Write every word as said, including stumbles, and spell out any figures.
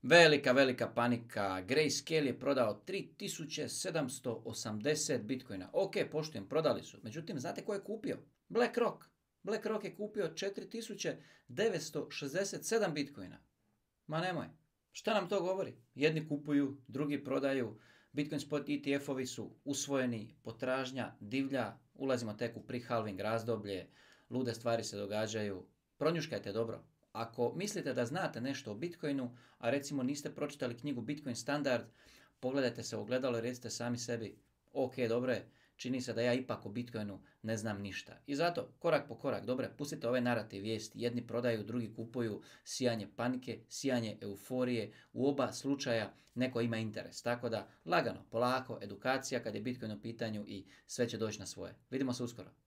Velika, velika panika. Grayscale je prodao tri tisuće sedamsto osamdeset bitcoina. Ok, poštujem, prodali su. Međutim, znate ko je kupio? BlackRock. BlackRock je kupio četiri tisuće devetsto šezdeset sedam bitcoina. Ma nemoj. Šta nam to govori? Jedni kupuju, drugi prodaju. Bitcoin spot E T F-ovi su usvojeni, potražnja divlja, ulazimo tek u pre-halving razdoblje, lude stvari se događaju. Pronjuškajte dobro. Ako mislite da znate nešto o Bitcoinu, a recimo niste pročitali knjigu Bitcoin standard, pogledajte se u ogledalo i recite sami sebi, ok, dobro je, čini se da ja ipak o Bitcoinu ne znam ništa. I zato, korak po korak, dobro, pustite ove narativ vijesti, jedni prodaju, drugi kupuju, sijanje panike, sijanje euforije, u oba slučaja neko ima interes. Tako da, lagano, polako, edukacija kad je Bitcoin u pitanju i sve će doći na svoje. Vidimo se uskoro.